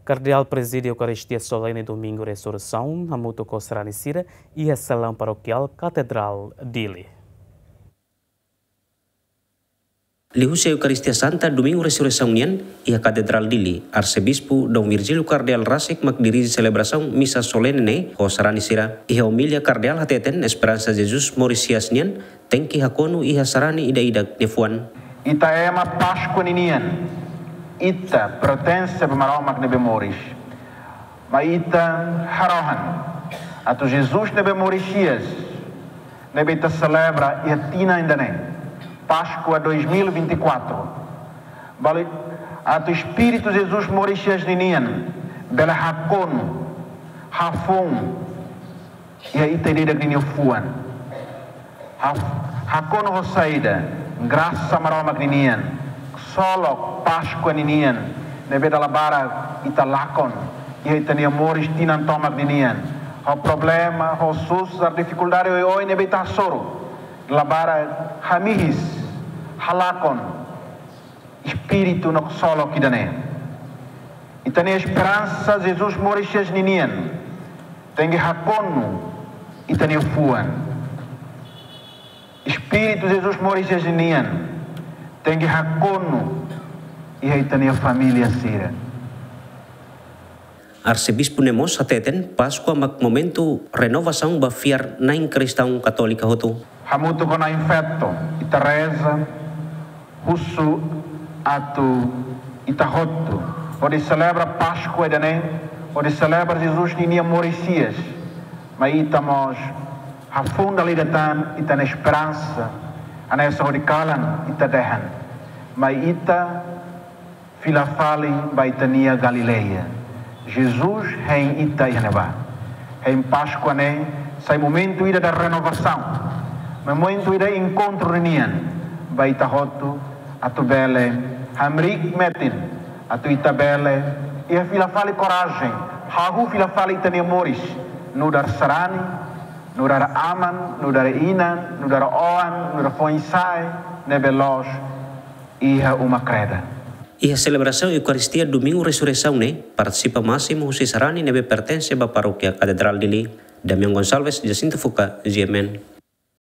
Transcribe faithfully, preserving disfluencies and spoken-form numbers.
Kardeál prezide Eukaristia Solene Domingu Resurreisaun hamutuk ho sarani sira iha salaun parokiál Katedrál Dili. Liuhusi Eukaristia Santa Domingu Resurreisaun nian iha Katedrál Dili, Arsebispu Dom Virgílio Kardeál rasik mak dirije selebrasaun misa solene ne'e ho sarani sira. Iha omilia, Kardeál hateten esperansa Jesus moris hi'as nian tenke hakonu iha sarani ida-idak nia fuan. Ita ema Páskua ninian, ita pertense ba Maromak ne'ebé moris. Maibé ita harohan atu Jesus ne'ebé moris hi'as, ne'ebé ita selebra iha tinan ida-ne'e, Páskua dois mil e vinte e quatro. Balu atu Espíritu Jesus moris hi'as ninian bele hakonu, hafoun iha ita ida-idak ninia fuan. Ha-, hakonu ho saida? Grasa Maromak ninian, ksolok Páskua ninian, ne'ebé dala barak ita lakon iha ita-nia moris tinan tomak ninian. Ho problema, ho susar, difikuldade oioin ne'ebé ita hasoru, dala barak hamihis, halakon Espíritu no ksolok ida-ne'e. Ita-nia esperansa Jesus moris hi'as ninian tenke hakonu ita-nia fuan. Espíritu Jesus moris hi'as ninian tenke hakonu iha ita-nia família sira. Arsebispu ne'e mós hateten Páskua mak momentu renovasaun ba fiar-na'in kristaun katólika hotu. Hamutuk ho na'in-feto, ita reza, husu atu ita hotu hodi selebra Páskua ida-ne'e, hodi selebra Jesus ninia moris hi'as, maibé ita mós hafoun dala ida tan ita-nia esperansa, hanesan hodi kalan ita dehan, maibé ita fila fali ba ita-nia Galileia. Jesus hein ita iha ne'ebá. Hein Páskua ne'e sai momentu ida da renovasaun, momentu ida enkontru ninian ba ita hotu atu bele hamriik metin, atu ita bele iha fila fali korajen, hahú fila fali ita-nia moris nu'udar sarani, nu'udar aman, nu'udar inan, nu'udar oan, nu'udar foin-sa'e ne'ebé loos iha uma kreda. Iha selebrasaun Eukaristia Domingu Resurreisaun ne'e partisipa másimu husi sarani ne'ebé pertense ba Parókia Katedrál Dili. Damian Gonçalves, Jacinto Fuca, G M N.